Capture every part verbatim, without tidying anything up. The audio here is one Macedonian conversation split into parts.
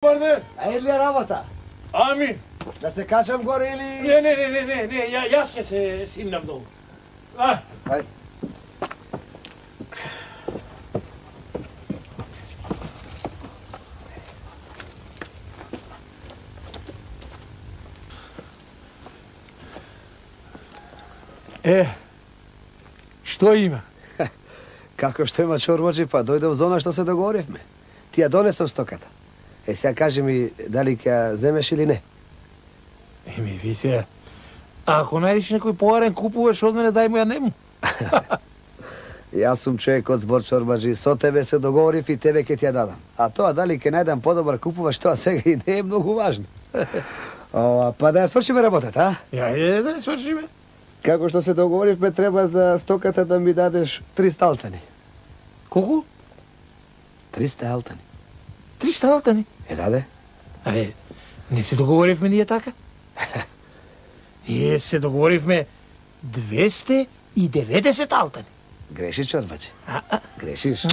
Добар ден. А е ли работа? Ами? Да се качам горе или... Не, не, не, не, не, не, ја, јас ке се симнам долу. А? Ај. Е, што има? Како што има чорбаджи, па дојдов за она што се договоривме. Ти ја донесов стоката. Е, сега кажи ми дали ќе ја земеш или не. Еми, ви се, ако најдеш некој поарен купуваш од мене, дај му ја нему. Јас сум човек од збор чорбаджи, со тебе се договорив и тебе ќе ти ја дадам. А тоа дали ќе најдам подобар купуваш, тоа сега и не е многу важно. Ова, па да ја свршиме работата, а? Ја, е, да ја свршиме. Како што се договоривме, треба за стоката да ми дадеш триста алтани. Колку? триста алтани. триста алтани? Е, даде? Абе, не се договоривме ние така? Ние се договоривме двесте и деветдесет алтани. Грешиш, чорбаджи. А, а. Грешиш.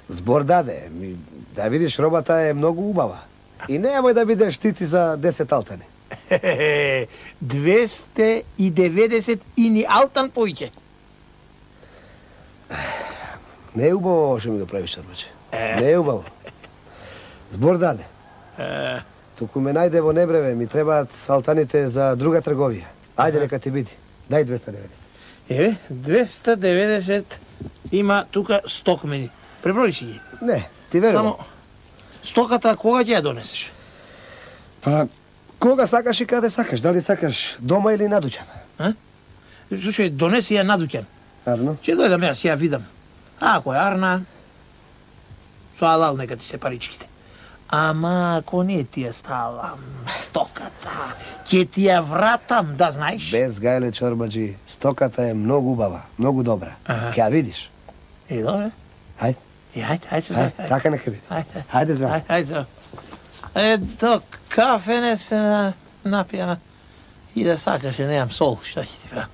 Збор даде. Ми, да видиш, робата е многу убава. И немој да бидеш тити за десет алтани. двесте и деветдесет и ни алтан поиќе. Не е убаво што ми го правиш, чорбаджи. Не е убаво. Збор даде. Туку ме најде во небреве, ми требаат алтаните за друга трговија. Ајде, нека ти биди. Дај двесте и деветдесет. Еве, двесте и деветдесет има тука стокмени. Преброи си ги. Не, ти верувам. Само, стоката кога ќе ја донесеш? Па, кога сакаш и каде сакаш? Дали сакаш дома или на дуќан? А? Слушај, донеси ја на дуќан. Арно? Ќе дојдам јас, ќе ја видам. А, ако е арна, со алал нека ти се паричките. Ама ако не ти ја ставам стоката, ќе ти ја вратам, да знаеш. Без гајле, чорбаджи, стоката е многу убава, многу добра. Аха. Ќе ја видиш. Е, добре. Ајде. Е, ајде, ајде, Ајде, ајде. така нека биде. Ајде, Ајде, здраво. ајде, ајде, здраво. Е, до кафе не се на, напија и да сакаше, немам сол, што ќе ти правам.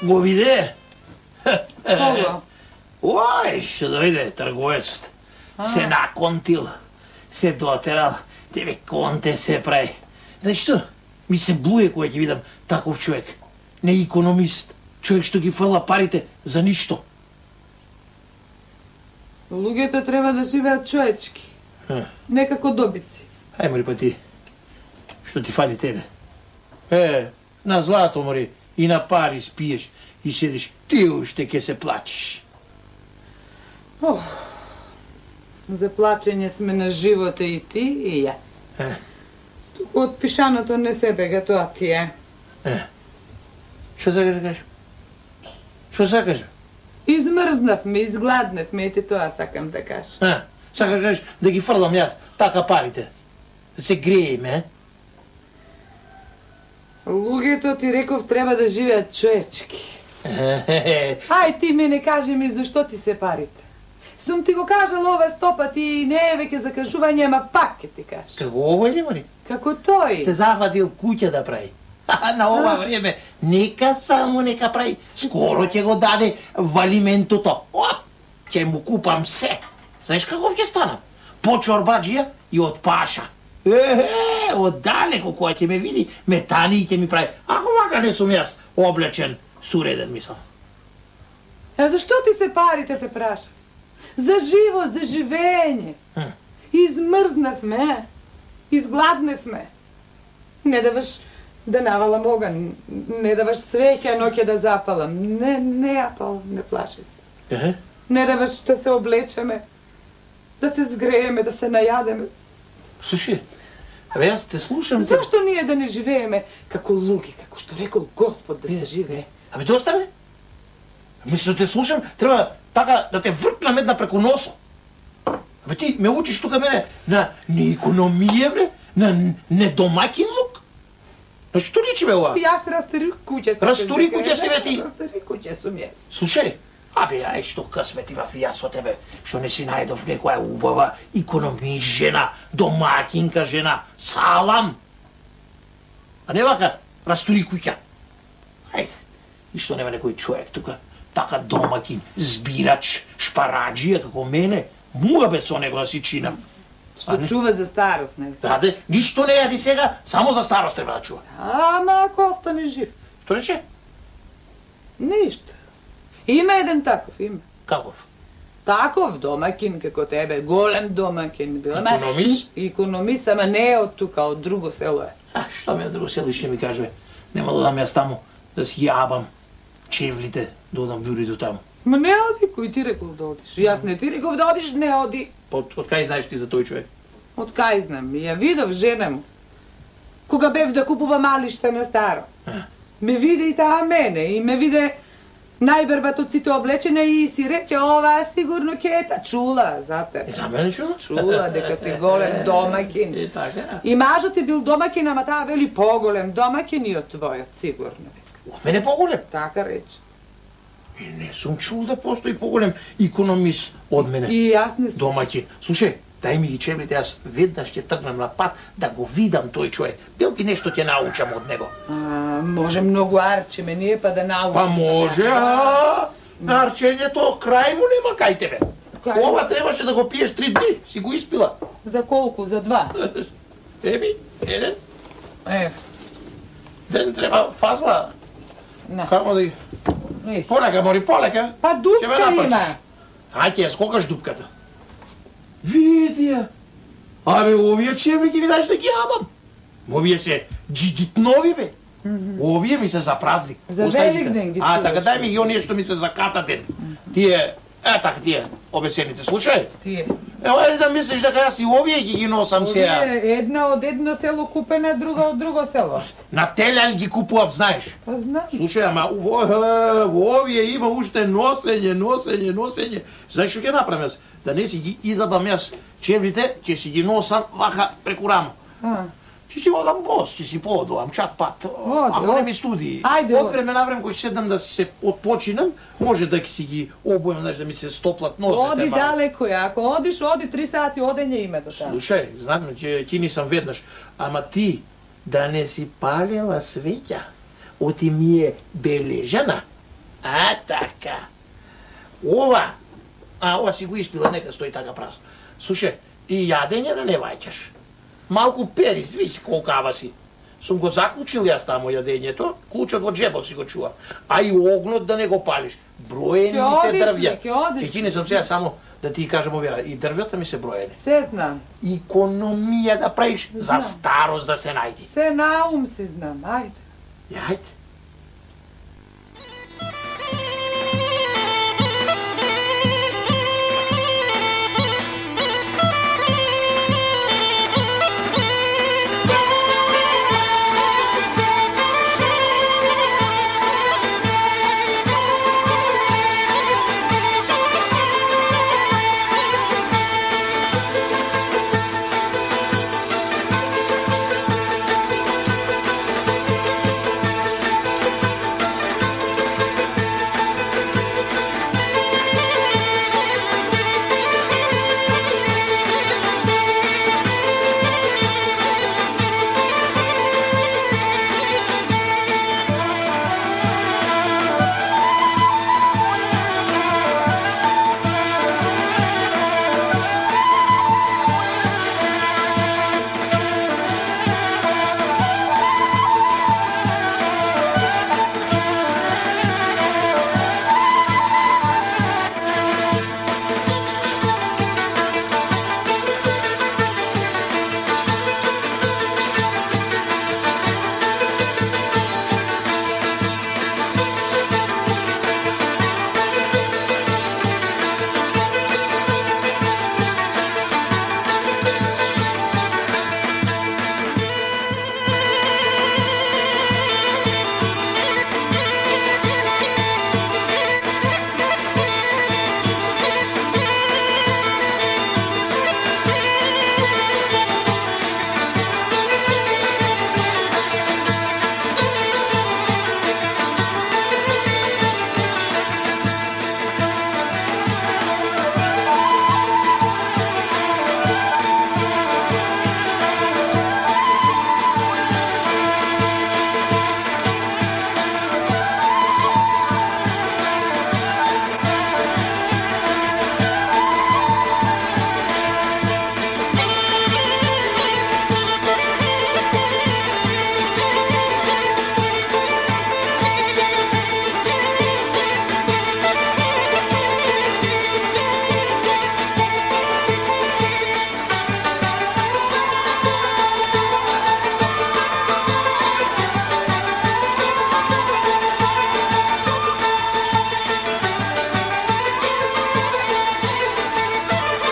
Го виде? Кого? Ој, што дојде трговецот. Се наконтил, се дотерал, тебе конте се прави. Знаеш што? Ми се блуе кога ќе видам таков човек. Не економист, човек што ги фрла парите за ништо. Луѓето треба да живеат човечки. Некако добици. Ај, мори па ти, што ти фали тебе? Е, на злато, мори, и на пари спиеш и седиш, ти уште ќе се плачиш. Ох, за плачење сме на живота и ти и јас. Е, Туку од пишаното не се бега, тоа ти е. е. Што сакаш да кажеш? Што сакаш? Измрзнавме, изгладнавме, и ти тоа сакам да кажам. А, сакаш да кажеш да ги фрлам јас, така парите. Да се грееме, е? Луѓето, ти реков, треба да живеат човечки. Ај, ти мене кажи ми зашто ти се парите. Сум ти го кажал ова сто пати и не е веќе закажување, ама пак ќе ти кажам. Како овој ли, мори? Како тој. Се захватил куќа да прави. А на ова време, нека само нека прави. Скоро ќе го даде валиментото. Оп, ќе му купам се. Знаеш каков ќе станам? По чорбаджија и од паша. Е, оддалеку која ќе ме види, ме тани и ќе ми прави. Ако мака не сум јас облечен, суреден мислам. А зашто ти се парите, те праша? За живот, за живење. Измрзнавме, изгладневме. Не даваш Да навалам оган, не даваш свеќа ноќе да запалам. Не, не ја пал, не плаши се. Е? Не даваш да се облечеме, да се згрееме, да се најадеме. Слушай, абе јас те слушам... Зашто ние да не живееме како луѓе, како што рекол Господ да се живее? Абе доста бе? Мислам да те слушам, треба така да те вртнам една преку носо. Абе ти ме учиш тука мене на не економија бре, на не домакин лук. На што личи бе ова? Јас растори куќе сум. Растори куќе си бе ти? Растори куќе сум јас. Слушај, абе ај што късмет имав јас со тебе, што не си најдов некоја убава економист жена, домакинка жена, салам. А не вака, растори куќа. Ајде, и што нема некој човек тука, така домакин, збирач, шпараджија како мене, муга бе со него да си чинам. Што чува за старост, не? Да, де, ништо не јади сега, само за старост треба да чува. Ама ако остане жив. Што рече? Ништо. Има еден таков, има. Каков? Таков домакин како тебе, голем домакин бил. Ама- Економист? Економист, ама не е од тука, од друго село е. А, што ми од друго село ще ми каже? Нема да дам јас таму, да си јабам чевлите, да одам бюрито таму. Ма не оди, кој ти рекол да одиш? Јас не ти реков да одиш, не оди. Од, од кај знаеш ти за тој човек? Од кај знам, ја видов жена му. Кога бев да купува малишта на старо. Ме виде и таа мене, и ме виде најбербат од сите облечена и си рече, ова сигурно кета. Чула, зате. И за мене чула? Чула дека си голем домакин. И така. И мажот е бил домакин, ама таа вели поголем домакин и од твојот, сигурно. Од мене поголем. Така рече. И не сум чул да постои поголем економист од мене. И јас не сум. Домаќин. Слушај, дај ми ги чевлите, јас веднаш ќе тргнам на пат да го видам тој човек. Билки нешто ќе научам од него. А, може многу арчеме ние па да научиме. Па може, а нарчењето крај му нема кај тебе. Кај? Ова требаше да го пиеш три дни, си го испила. За колку? За два? Еби, еден, Е, ден треба фазла. на. Камо да ги... Е. Полека, мори, полека. Па Ќе ме дупка напрчиш. има. Ај ќе ја скокаш дупката. Види ја. Абе, овие чевли ги видаш да ги јадам. Овие се джидитнови, бе. Овие ми се за празник. За Остави ги Великден ги А, така чуваш. дај ми ги оние што ми се за катаден. Тие, е така тие, обесените. Слушај, Тие. ево е да мислиш дека јас и овие ги ги носам сега. Овие една од едно село купена, друга од друго село. На телјан ги купував, знаеш. Па знам. Слушај, ама во, е, во овие има уште носење, носење, носење. Знаеш што ќе направам јас? Да не си ги изабам јас чевлите, ќе си ги носам вака преку рамо. А, Ќе си одам бос, ќе си поодувам чат пат. Ако не од. ми студи. Ајде, Од од. време на време кој седам да си се отпочинам, може да ќе си ги обуем, знаеш, да ми се стоплат нозете. оди малку. далеко ја. Ако одиш, оди три сати одење има до таму. Слушај, знам, ќе ќе нисам веднаш, ама ти да не си палела свеќа, оти ми е бележана. А така. Ова, а ова си го испила, нека стои така празно. Слушај, и јадење да не ваќаш. Малку перис, виж колкава си. Сум го заклучил јас таму јадењето, клучот во джебот си го чувам. А и огнот да не го палиш. Броени Ќе ми се одиш ли, дрвја. ќе одиш Ќе ти не сам сега само да ти кажам овера, и дрвјата ми се броени. Се знам. Економија да правиш, за Знам. старост да се најди. Се наум си знам. Ајде. Јајде.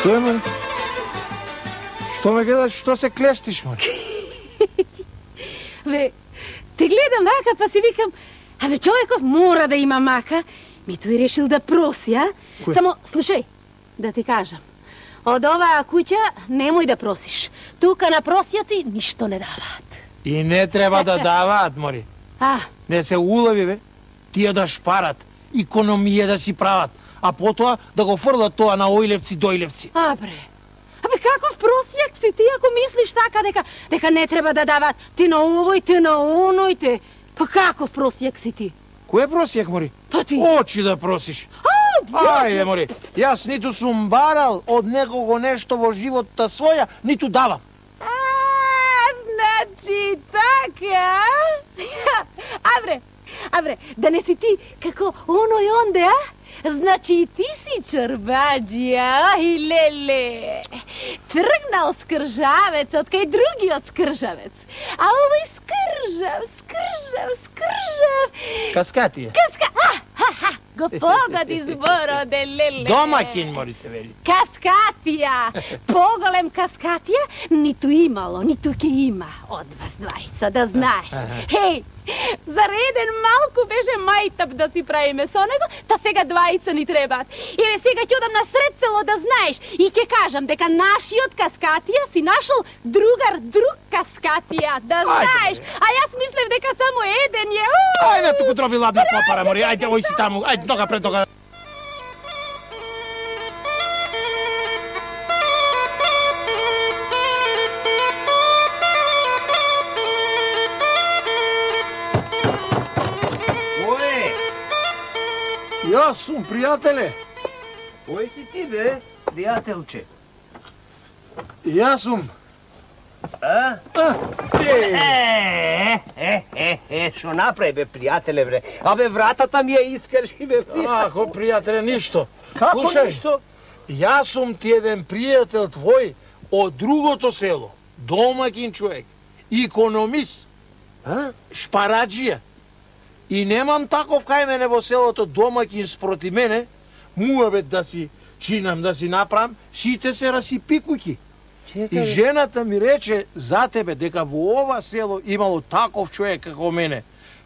Што е, Мари? Што ме гледаш, што се клештиш, Мари? Бе, те гледам вака, па си викам, абе, човеков мора да има мака. Ми тој решил да проси, а? Кој? Само, слушај, да ти кажам. Од оваа куќа немој да просиш. Тука на просјаци ништо не даваат. И не треба да даваат, Мари. А, Не се улави, бе. Тие да шпарат, икономија да си прават, а потоа да го фрлат тоа на ојлевци, дојлевци. а бре. Абе, каков просјак си ти ако мислиш така дека дека не треба да даваат ти на овој, ти на оној, те. Па каков просјак си ти? Кој е просјак, Мари? Па ти. Очи да просиш. Ајде, Мари, јас ниту сум барал од некого нешто во животта своја, ниту давам. А, значи така. Абре, абре, да не си ти како оној онде, а? Значи и ти си чорбаджија, ај леле. Тргнал скржавецот кај другиот скржавец. А овој скржав, скржав, скржав. Каскатија. Каска... А, ха, ха, го погоди зборот, леле. Домаќин, Мари се вели. Каскатија! Поголем каскатија ниту имало, ниту ке има од вас двајца, да знаеш. Хеј, за реден малку беше мајтап да си правиме со него, та сега двајца ни требаат. Еве сега ќе одам на сред село да знаеш и ќе кажам дека нашиот каскатија си нашол другар друг каскатија, да знаеш. А јас мислев дека само еден е. Ајде, туку дроби ладна попара, Мари. Ајде, ој си таму. Ајде, нога пред нога. Јас сум, пријателе. Кој си ти, бе, пријателче? Јас сум. А? Е, е, е, е, шо направи, бе, пријателе, бре? Абе, вратата ми ја искрши, бе, пријателе. Ако, пријателе, ништо. Како Слушај, ништо? Јас сум ти еден пријател твој од другото село. Домаќин човек. Икономист. А? Шпараджија. И немам таков кај мене во селото домаќин спроти мене, муабет да си чинам, да си направам, сите се расипи куќи. И жената ми рече за тебе дека во ова село имало таков човек како мене.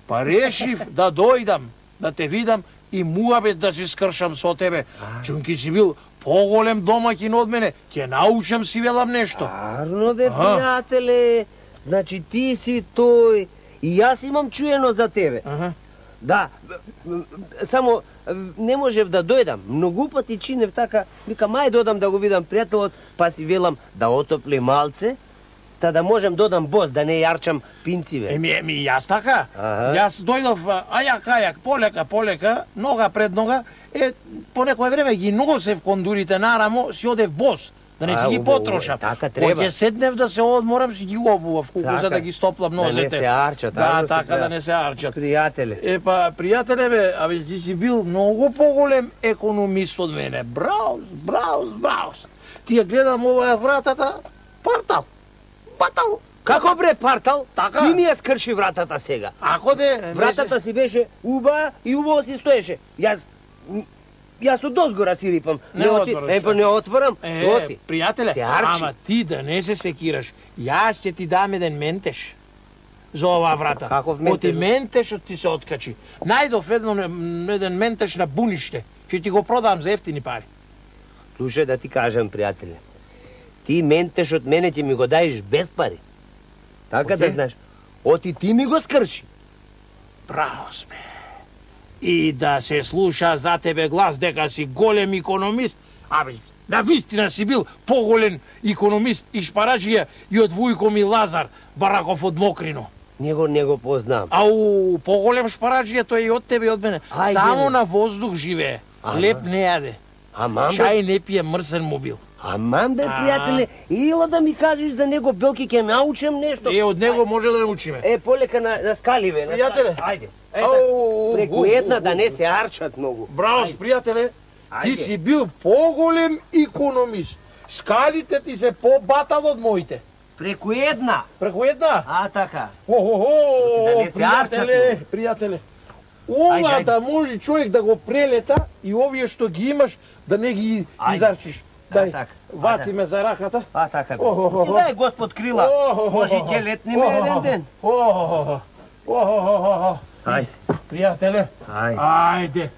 Па решив да дојдам, да те видам и муабет да си скршам со тебе. Чунки си бил поголем домаќин од мене, ќе научам си велам нешто. Арно, бе, пријателе. Значи ти си тој. И јас имам чуено за тебе. Аха. Да, само не можев да дојдам. Многу пати чинев така, вика мај додам да го видам пријателот, па си велам да отопли малце, та да можем додам бос, да не јарчам пинциве. Еми, еми, јас така. Аха. Јас дојдов ајак, ајак, полека, полека, нога пред нога, е, по некој време ги носев кондурите нарамо, си одев бос. Да не си А, ги убаво, потрошам. така треба. Кога ќе седнев да се одморам, си ги обував куку Така. за да ги стоплам Да не нозете. се арчат, Да, арно се така треба. да не се арчат. Пријателе. Е, па, пријателе, бе, абе, ти си бил многу поголем економист од мене. Браус, браус, браус. Ти ја гледам оваа вратата, партал, патал. Како бре партал? Така. Ти ми ја скрши вратата сега. Ако де... Вратата си беше уба и убаво си стоеше. Јас Јас од дозгора си рипам. Не отвораш, Е, па не отворам. Е, Оти. пријателе, Се арчи. ама ти да не се секираш. Јас ќе ти дам еден ментеш за оваа врата. Каков ментеш? Оти ментешот ти се откачи. Најдов еден, еден ментеш на буниште. Ќе ти го продам за ефтини пари. Слушај да ти кажам, пријателе. Ти ментеш од мене ќе ми го даеш без пари. Така да Океј. знаеш. Оти ти ми го скрши. Браво сме. И да се слуша за тебе глас дека си голем икономист. Абе, на вистина си бил поголем икономист и шпараджија и од Вујко ми Лазар, Бараков од Мокрино. Него не го познам. Ау, поголем шпараджија тој и од тебе и од мене. Ајде, Само бе. на воздух живее. Ама. Леп не јаде. Амам бе, Чај не пие, мрсен му бил. амам бе, А. пријателе. Ила да ми кажеш за него, Белки, ќе научам нешто. Е, од него може да научиме. Е, полека на, на скаливе. На Пријателе. скали. Ајде. Ау, Ета, преку у, една у, да у. не се арчат многу. Браво, пријателе. Ти Ајде. си бил поголем икономист. Скалите ти се побатал од моите. Преку една. Преку една? А, така. О-хо-хо, Да не се пријателе, арчат, пријателе. Ова Ајде, ајде. да може човек да го прелета и овие што ги имаш да не ги Ајде. изарчиш. Дај, вати ме за раката. А, така. Дај, Господ крила. Може и ќе летни ме еден ден. Ајде. Пријателе, ајде.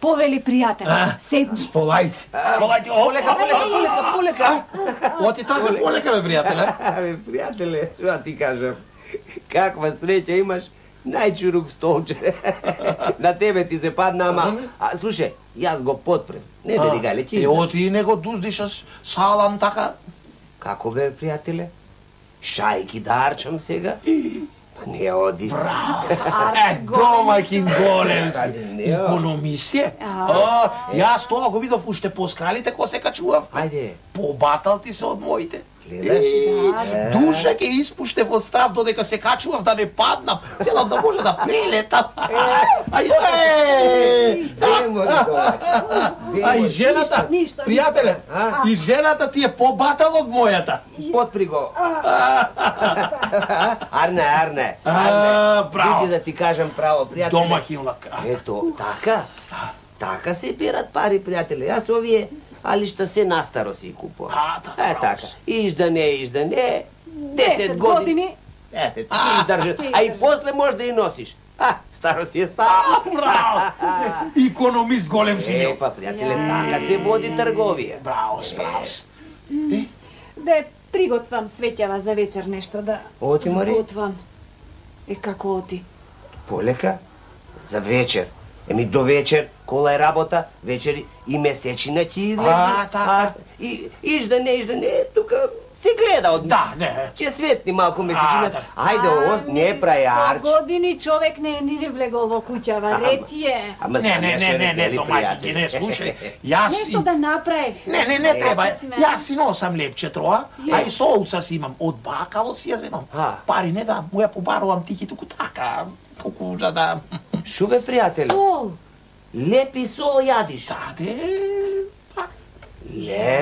Повели пријателе, седни. Сполајте. Сполајте. Полека, полека, полека, полека. Оти така, полека бе, пријателе. Абе, пријателе, што ти кажам? Каква среќа имаш? Најчурук столче. На тебе ти се падна, ама... А, слушај, јас го подпрем. Не бери гале, че Е, оти не го дуздишаш салам така. Како бе, пријателе? Шајки да арчам сега? Па не оди. Е, домаќин голем си. Економист е. Јас тоа го видов уште по скалите ко се качував. Ајде. Побатал ти се од моите. Гледаш? Душа ке испуштев од страв додека се качував да не паднам. Велам да може да прелетам. Ајде! А и жената, пријателе, и жената ти е побатал од мојата. Подпри го. Арне, Арне. Браво. Види да ти кажам право, пријателе. Домаќинлак. Ето, така. Така се берат пари, пријателе. Јас овие алишта се настаро си купувам. А, така. Е, така. Иждане, иждане. Десет години. Ете, ти издржаш. А и после може да и носиш. А, старо си е старо. Браво! Економист голем си Е, па, пријателе, така се води трговија. Браво, браво. Да приготвам свеќава за вечер нешто да Оти, Мари? сготвам. Е, како оти? Полека, за вечер. Еми до вечер, кола е работа, вечер и месечина ќе излезе. А, така. И иждане, иждане, тука се гледа од... Да, не. Ќе светни малку месечина. А, да. Ајде, ост, не прај арч. Со години човек не е ни влегол во куќава, рети е. Ама Не, не, знаеш, не, не, не, нели, домаќинки, не, пријатели? слушај. Јас... Нешто да направив. Не, не, не треба. Десет Јас си носам лепче троа, а и солуца си имам. Од бакало си ја земам. А. Пари не да, му ја побарувам тики туку така, туку за да... Шо бе, пријателе? Сол. Лепи сол јадиш. Да, де...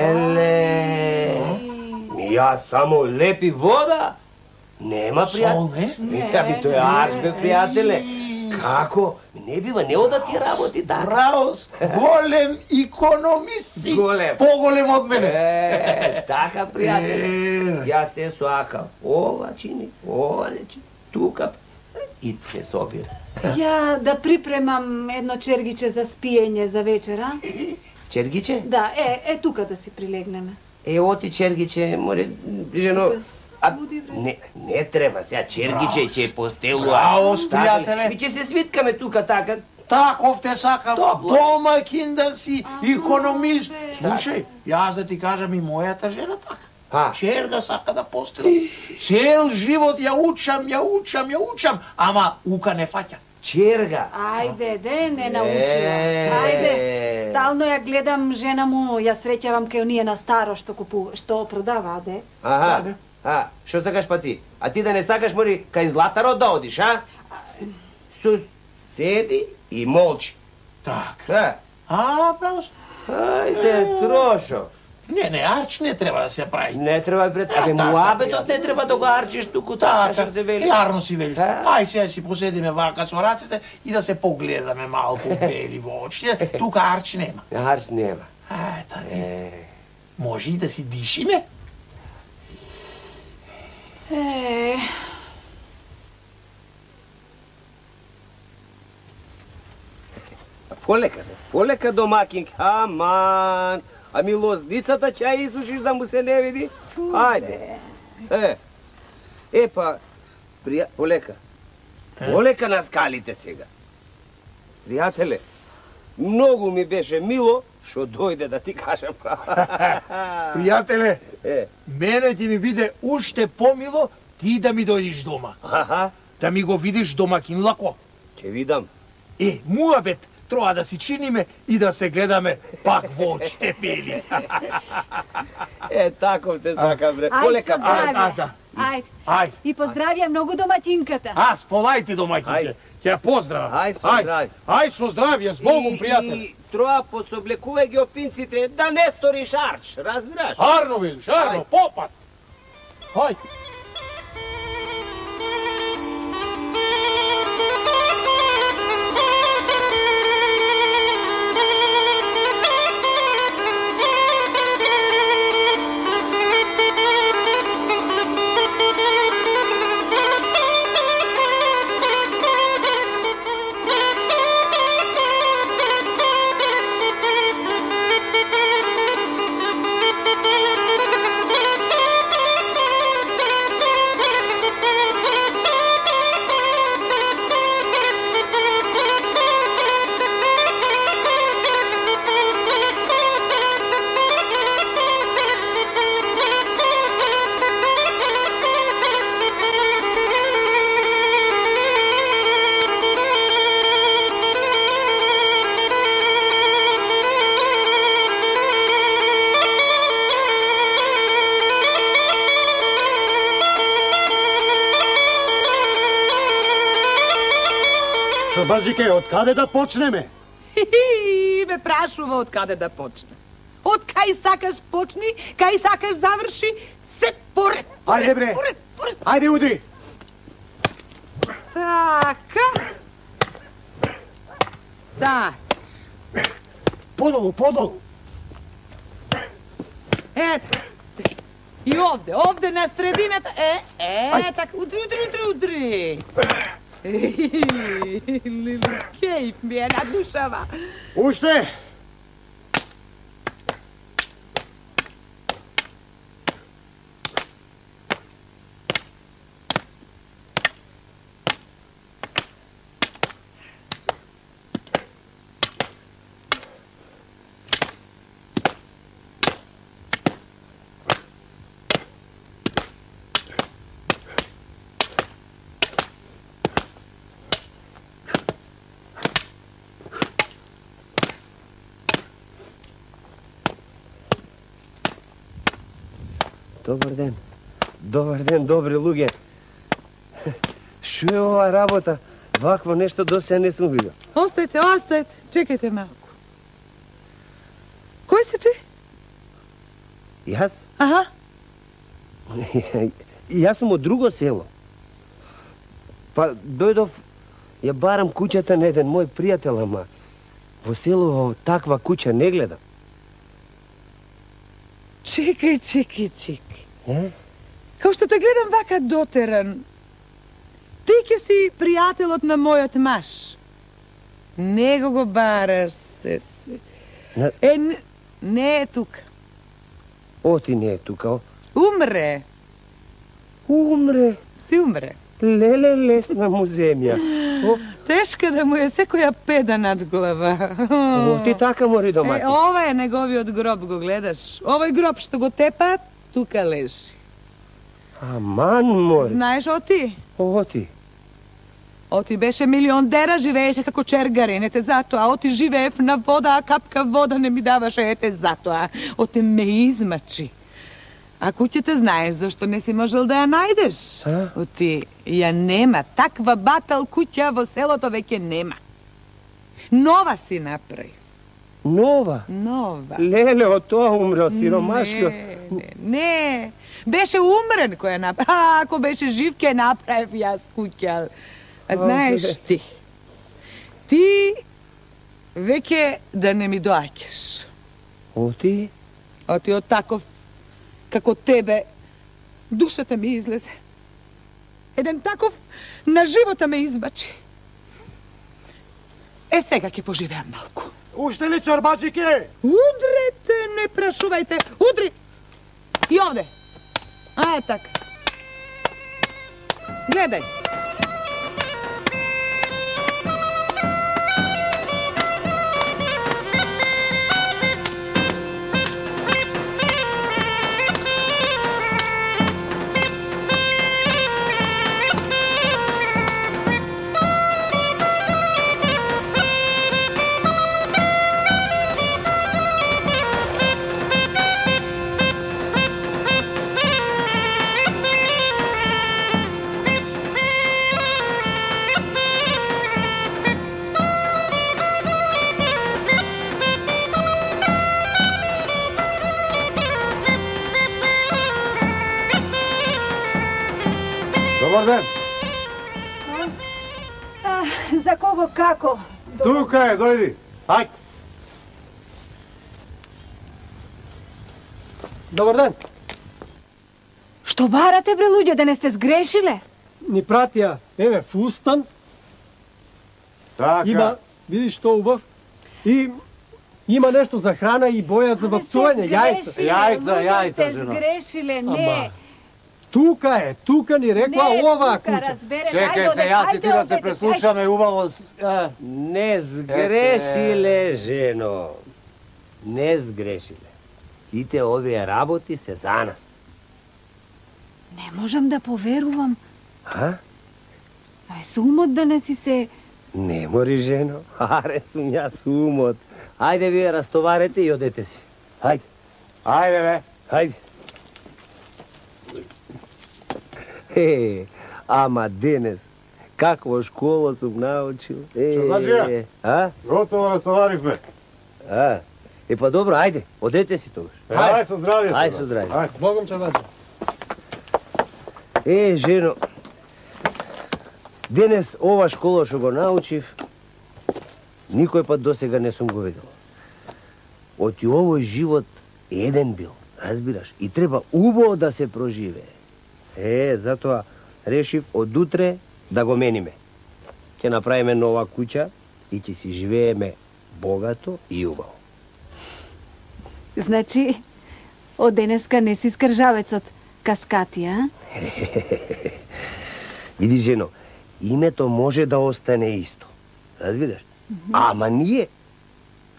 Леле. Ми јас само лепи вода? Нема пријател. Сол, не? Ами тој е арш бе, пријателе. Како? Не бива, не ода ти работи така. Браво, голем економист си. Голем. Поголем од мене. Е, така, пријателе. Јас се соакал. Ова чини, ова не чини. Тука и се собира. Ја да припремам едно чергиче за спиење за вечера. Чергиче? Да, е, е тука да си прилегнеме. Е, оти чергиче, море, жено... Без А, буди, бре. не, не треба сега, чергиче ќе постелува. Браво, пријателе. Ми ќе се свиткаме тука така. Таков те сакам, Топло. домаќин да си, економист. бе. Слушај, јас да ти кажам и мојата жена така. А. Черга сака да постела. Цел живот ја учам, ја учам, ја учам, ама ука не фаќа. Черга. Ајде, де, не научила. Е. Ајде, стално ја гледам жена му, ја среќавам кај оние на старо што купува, што продава, де. Аха. А, што сакаш па ти? А ти да не сакаш мори кај Златаро да одиш, а? Сус, седи и молчи. Така. А, А, право. ајде, трошо. Не, не, арч не треба да се прави. Не треба пред... Абе, така, муабетот пријател. не треба да го арчиш туку така, што се вели. Јарно си велиш. А? Ај сега си поседиме вака со рацете и да се погледаме малку бели во очите. Тука арч нема. Арч нема. Ај, така. Е, Може и да си дишиме? Е, полека, бе, полека домакинки. Аман. Ами лозницата ќе ја изушиш да му се не види? Ајде. Е. Епа, прија... полека. Полека на скалите сега. Пријателе, многу ми беше мило што дојде да ти кажам. Пријателе, Е, мене ќе ми биде уште помило ти да ми дојдиш дома. аха, Да ми го видиш домакин лако. ќе видам. Е, муабет, троа да си чиниме и да се гледаме пак во очите бели. Е, таков те сакам, бре. Ај, Полека, со здравје. А, да. Ајде. Ај, И поздравија многу домаќинката. аз полајте домакинке. Ај. Ќе ја поздравам. Ај, со здравје. Ај, со здравје, с Богом, И- пријател. И троа пособлекувај ги опинците да не сториш арч, разбираш? Арно, велиш, арно, Ај. попат. Ај. Чорбаджике, од каде да почнеме? Хи, ме прашува од каде да почне. Од кај сакаш почни, кај сакаш заврши, се поред, поред, Ајде, бре. поред, поред. Ајде, удри. Така. Так. Подолу, подолу. Ето. И овде, овде на средината. Е, е, така, удри, удри, удри, удри. Лили, кейп ми е на душава. Уште. Добар ден. Добар ден, добри луѓе. Шо е ова работа? Вакво нешто до сега не сум видел. Остајте, остајте. Чекајте малку. Кој си ти? Јас? Аха. Јас сум од друго село. Па дојдов, ја барам куќата на еден мој пријател, ама во село во таква куќа не гледам. Чекај, чекај, чекај. Е? Као што те гледам вака дотеран, ти ке си пријателот на мојот маж. Него го бараш се. се. На... Е, не, не е тука. Оти не е тука, о? Умре. Умре. Си умре. Леле, лесна му земја. О, Тешка да му е секоја педа над глава. о, ти така мори Е, домати. ова е неговиот гроб, го гледаш. Овој гроб што го тепаат, тука лежи. Аман мори. Знаеш, Оти? Оти. Оти беше милиондера, живееше како чергарин, ете затоа. Оти живеев на вода, а капка вода не ми даваше, ете затоа. Оти ме измачи. А куќата знаеш зашто не си можел да ја најдеш? А? Оти ја нема. Таква батал куќа во селото веќе нема. Нова си направи. Нова. Нова. Леле, од тоа умрел сиромашко. Не, не, не. Беше умрен кој ја направи. А, ако беше жив, ке направив јас куќа. А знаеш ти, ти веќе да не ми доаѓаш. Оти? Оти од таков, како тебе, душата ми излезе. Еден таков на живота ме избачи. Е, сега ќе поживеам малку. Уште ли, Чорбаджике? Удрете, не прашувајте, удри! И овде. А, е така. Гледај. Добар ден. А, за кого како? Тука е, дојди. Ајде. Добар ден. Што барате, бре, луѓе, да не сте сгрешиле? Ни пратија, еве, фустан. Така. Има, видиш што убав. И има нешто за храна и боја за бавцување, јајца. Јајца, јајца, жено. жено. Сгрешиле, не. Ама, тука е, тука ни рекла Не, оваа тука, куќа. разбере. Чекај Ајде, се, јас и ти ајде, да се одете, преслушаме убаво. с- е. Не сгрешиле, жено. Не сгрешиле. Сите овие работи се за нас. Не можам да поверувам. А? Ај, сумот да не си се... Не мори, жено. Аре, сум јас умот. Ајде вие растоварете и одете си. Ајде. Ајде, бе. Ајде. Е, ама денес, Каква школа сум научил. Е, Чорбаджија? А? Готово растоварихме. А? Е, па добро, ајде, одете си тогаш. Ај со здравје. Ај со здравје. Ај, Богом, Чорбаджија. Е, жено, денес ова школа што го научив, никој пат досега не сум го видел. Оти овој живот еден бил, разбираш, и треба убаво да се проживее. Е, затоа решив од утре да го мениме. Ќе направиме нова куќа и ќе си живееме богато и убаво. Значи, од денеска не си скржавецот Каскатија, а? Види, жено, името може да остане исто. Разбираш? Ама ние,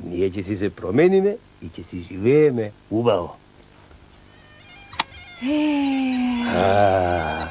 ние ќе си се промениме и ќе си живееме убаво. Е... А,